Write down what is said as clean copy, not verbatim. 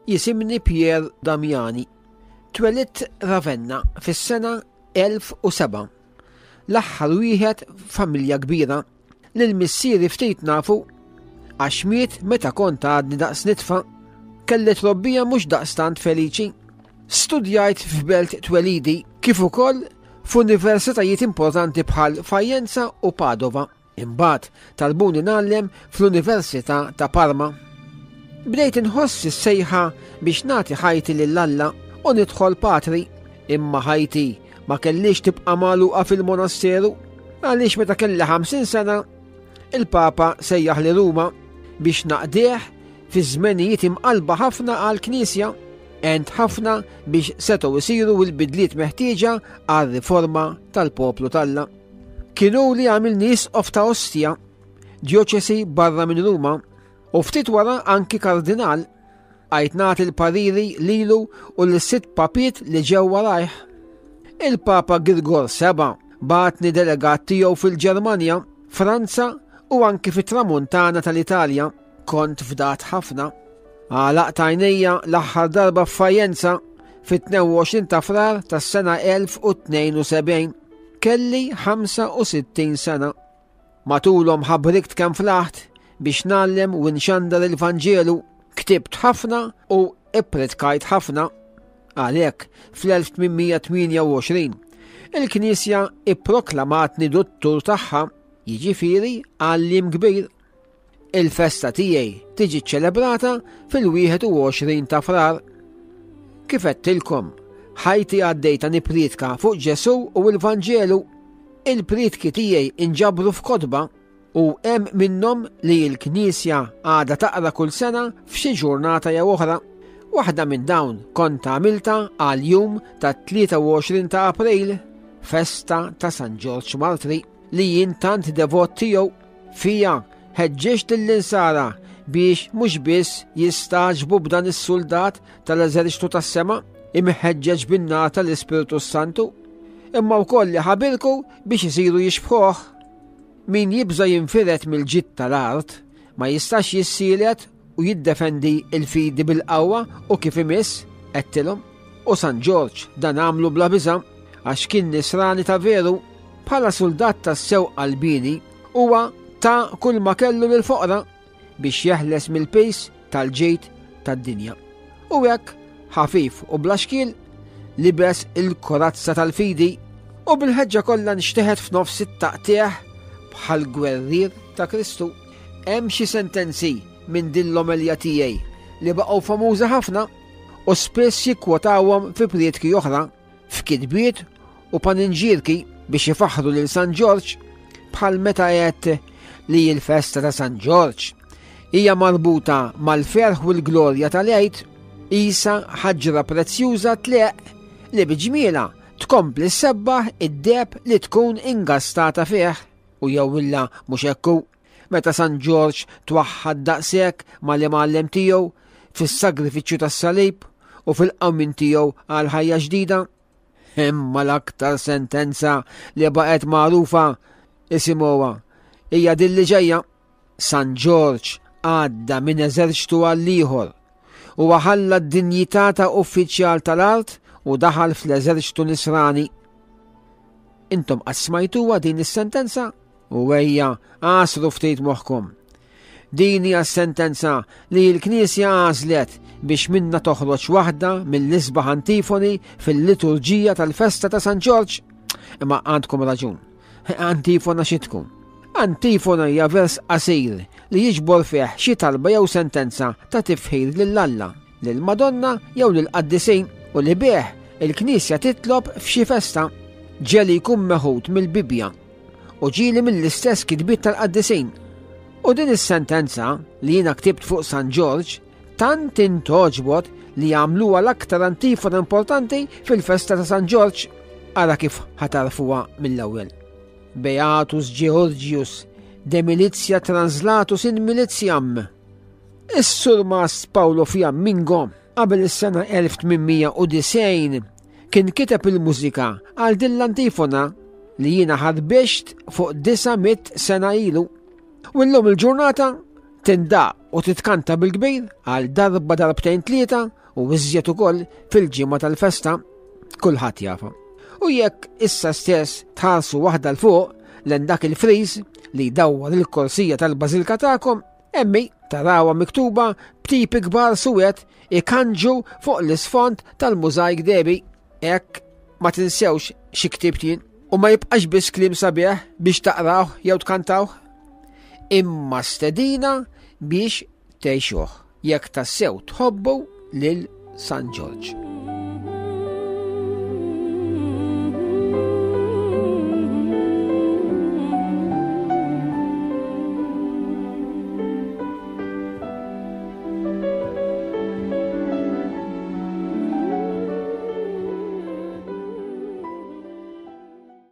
Jisimni Pier Damiani. Twelidt Ravenna fis-sena 1007. L-aħħar wieħed f'familja kbira. Lil missieri ftit nafu għax miet meta kont għadni daqs nitfa. Kelli trobbija mhux daqstant feliċi. Studjajt f'belt twelidi kif ukoll f'universitajiet importanti bħal Fajenza u Padova. Imbagħad talbuni ngħallem fl-Università ta' Parma. Bdejt inħoss is-sejħa biex nagħti ħajti lil Alla u nidħol patri, imma ħajti ma kellix tibqa' magħluqa fil-monasteru għaliex meta kelli 50 sena il-Papa sejjaħ li Ruma biex naqdih fi żmenijiet imqalba ħafna għall-Knisja għent ħafna biex setgħu jsiru l-bidliet meħtieġa għar-riforma tal-poplu t'Alla. Kien hu li għamilni isqof ta' Ostia, djoċesi barra minn Ruma, u ftit wara anki kardinal. Għajt nagħti l-pariri lilu u l-sitt papiet li ġew warajh. Il-Papa Girgor Seba bagħatni delegat tiegħu fil-Ġermanja, Franza u anki fit-Tramuntana tal-Italja. Kont fdat ħafna. Għalaqt għajnejja l-aħħar darba f'Fajenza fit-22 ta' Frar tas-sena 1072. Kelli 65 sena. Matulhom ħabrikt kemm flaħt biex ngħallem u nxandar il-Vanġelu, ktibt ħafna u ippritkajt ħafna. Għalhekk, fl-1828, il-Knisja ipproklamatni duttur tagħha, jiġifieri għalliem kbir. Il-festa tiegħi tiġi ċċelebrata fil-21 ta' Frar. Kif għedtilkom, ħajti għaddejta nippriedka fuq Ġesù u l-Vanġelu. Il-priedki tiegħi inġabru f'kotba u hemm minnhom li l-Knisja għadha taqra kull sena f'xi ġurnata jew oħra. Waħda minn dawn kont għamilta għal jum tat-23 ta' April, festa ta' San Ġorġ Martri, li jien tant devot tiegħu. Fiha ħeġġiġt lill-Insara biex mhux biss jistagħġbu b'dan is-suldat tal-eżerċtu tas-sema, imħeġġeġ bin-nar tal-Ispirtu s-Santu, imma wkoll li ħabirku biex isiru jixbħuh. Min jibża' jinfired mill-ġid tal-art ma jistax jissielet u jiddefendi l-fidi bil-qawwa u kif imiss, għedtilhom. U San Ġorġ dan għamlu bla biża' għax kien nisrani ta' veru. Bħala suldat tassew qalbieni, huwa ta kull ma kellu lill-foqra biex jeħles mill-piż tal-ġid tad-dinja. U hekk, ħafif u bla xkiel, libes il-korazza tal-fidi u bil-ħeġġa kollha nxteħet f'nofs it-taqtigħ bħal gwerrier ta' Kristu. Hemm xi sentenzi minn din l-omelja tiegħi li baqgħu famużi ħafna u spiss jikkwotawhom fi prietki oħra. f'kitbiet u paninġierki biex ifaħħru lil San Ġorġ bħal meta għedt li l-festa ta' San Ġorġ hija marbuta mal-ferħ u l-glorja tal-Għid qisha ħaġra prezzjuża tleqq li bi ġmielha tkompli ssebbaħ id-deheb li tkun ingastata fih u jew illa mhux hekk hu. Meta San Ġorġ twaħħad daqshekk mal-imgħallem tiegħu fis-sagrifiċċju tas-salib u fil-qawmien tiegħu għal ħajja ġdida? Imma l-aktar sentenza li baqgħet magħrufa isimgħuha hija din li ġejja. San Ġorġ għadda minn eżerċtu għal ieħor u ħalla d-dinjità ta' uffiċjal tal-art u daħal fl-eżerċtu nisrani. Intom qatt smajtuha din is-sentenza? U ejja, għasru ftit moħħkom. Din hija s-sentenza li l-Knisja għażlet biex minna toħroġ waħda mill-isbaħ antifoni fil-liturġija tal-festa ta' San Ġorġ. Imma għandkom raġun. Antifona xi tkun? Antifona hija vers qasir li jiġbor fih xi talba jew sentenza ta' tifħir lil Alla, lil Madonna jew lil qaddisin u li bih il-Knisja titlob f'xi festa. Ġeli jkun meħud mill-Bibbja u ġieli mill-istess kitbiet tal-qaddisin. U din is-sentenza li jiena ktibt fuq San Ġorġ tant intogħġbot li għamluha l-aktar antifona importanti fil-festa ta' San Ġorġ. Ara kif ħatarfuha mill-ewwel. Beatus Georgius de milizia translatus in militiam. Is-surmast Paolo Fiammingo qabel is-sena 1890 kien kiteb il-mużika għal din l-antifona li jiena ħarbixt fuq 900 sena ilu. U llum il-ġurnata Tindaq u titkanta bil-kbir għal darba darbtejn tlieta u iżjed ukoll fil-ġimgħa tal-festa kulħadd jafa. U jekk issa stess tħarsu waħda l fuq len dak il-friż li jdawwar il-korsija tal-bażilka tagħkom, emmi tarawha miktuba b'tipi kbar suwed ikanġu fuq l-isfond tal-mużajk debi. Hekk ma tinsewx xi ktibt jien u ma jibqax biss kliem sabiħ biex taqrawh jew tkantawh. Imma stedina biex tgħixuh jekk tassew tħobbu lil San Ġorġ.